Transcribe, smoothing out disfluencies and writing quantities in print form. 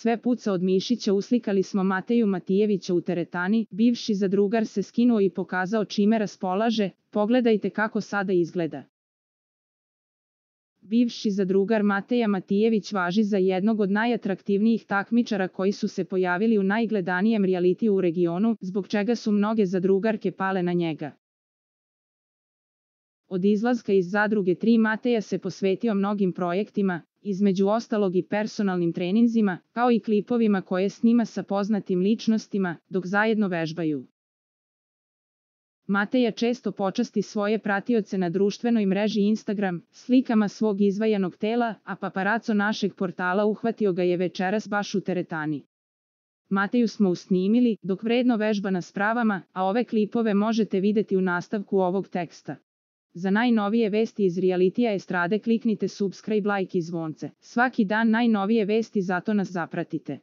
Sve puca od mišića uslikali smo Mateju Matijevića u teretani, bivši zadrugar se skinuo i pokazao čime raspolaže, pogledajte kako sada izgleda. Bivši zadrugar Mateja Matijević važi za jednog od najatraktivnijih takmičara koji su se pojavili u najgledanijem realitiju u regionu, zbog čega su mnoge zadrugarke pale na njega. Od izlaska iz zadruge 3 Mateja se posvetio mnogim projektima, između ostalog i personalnim treninzima, kao i klipovima koje snima sa poznatim ličnostima, dok zajedno vežbaju. Mateja često počasti svoje pratioce na društvenoj mreži Instagram, slikama svog izvajanog tela, a paparaco našeg portala uhvatio ga je večeras baš u teretani. Mateju smo usnimili, dok vredno vežba na spravama, a ove klipove možete vidjeti u nastavku ovog teksta. Za najnovije vesti iz realitija estrade kliknite subscribe, like i zvonce. Svaki dan najnovije vesti, zato nas zapratite.